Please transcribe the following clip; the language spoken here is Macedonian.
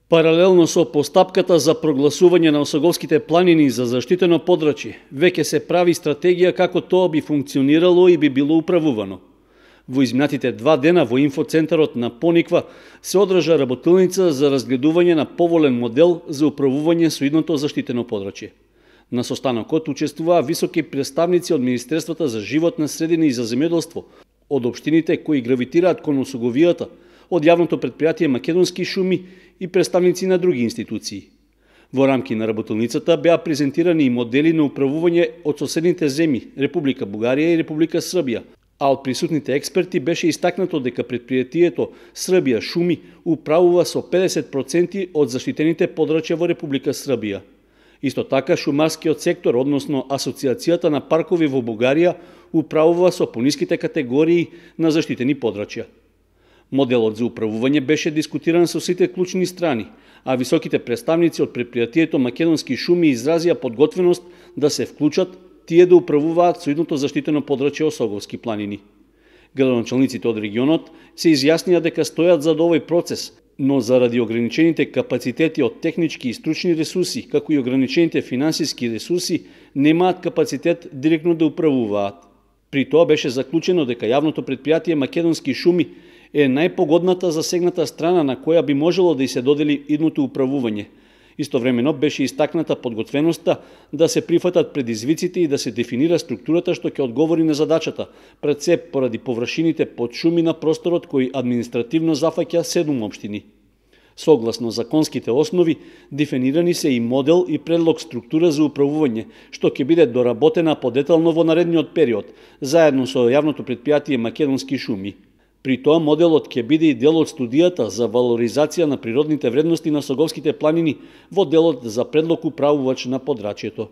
Паралелно со постапката за прогласување на Осоговските планини за заштитено подрачје, веќе се прави стратегија како тоа би функционирало и би било управувано. Во изминатите 2 дена во инфоцентарот на Пониква се одржа работилница за разгледување на поволен модел за управување со идното заштитено подрачје. На состанокот учествуваа високи представници од Министерствата за животна средина и за земјоделство, од општините кои гравитираат кон Осоговијата, од јавното предпријатие Македонски шуми и представници на други институции. Во рамки на работилницата беа презентирани и модели на управување од соседните земји, Република Бугарија и Република Србија, а од присутните експерти беше истакнато дека предпријатието Србија шуми управува со 50% од заштитените подрачја во Република Србија. Исто така, шумарскиот сектор, односно Асоциацијата на паркови во Бугарија, управува со пониските категории на заштитени подрачја. Моделот за управување беше дискутиран со сите клучни страни, а високите представници од предпријатието Македонски шуми изразија подготвеност да се вклучат тие да управуваат со идното заштитено подрачје Осоговски планини. Градоначалниците од регионот се изјаснија дека стојат за овој процес, но заради ограничените капацитети од технички и стручни ресурси, како и ограничените финансиски ресурси, немаат капацитет директно да управуваат. При тоа беше заклучено дека јавното предпријатие Македонски шуми е најпогодната засегната страна на која би можело да и се додели идното управување. Истовремено беше истакната подготвеноста да се прифатат предизвиците и да се дефинира структурата што ќе одговори на задачата, пред се поради површините под шуми на просторот кој административно зафаќа 7 општини. Согласно законските основи, дефинирани се и модел и предлог структура за управување, што ќе биде доработена подетално во наредниот период, заедно со јавното предпријатие Македонски шуми. При тоа моделот ќе биде и дел од студијата за валоризација на природните вредности на Осоговските планини во делот за предлог управувач на подрачјето.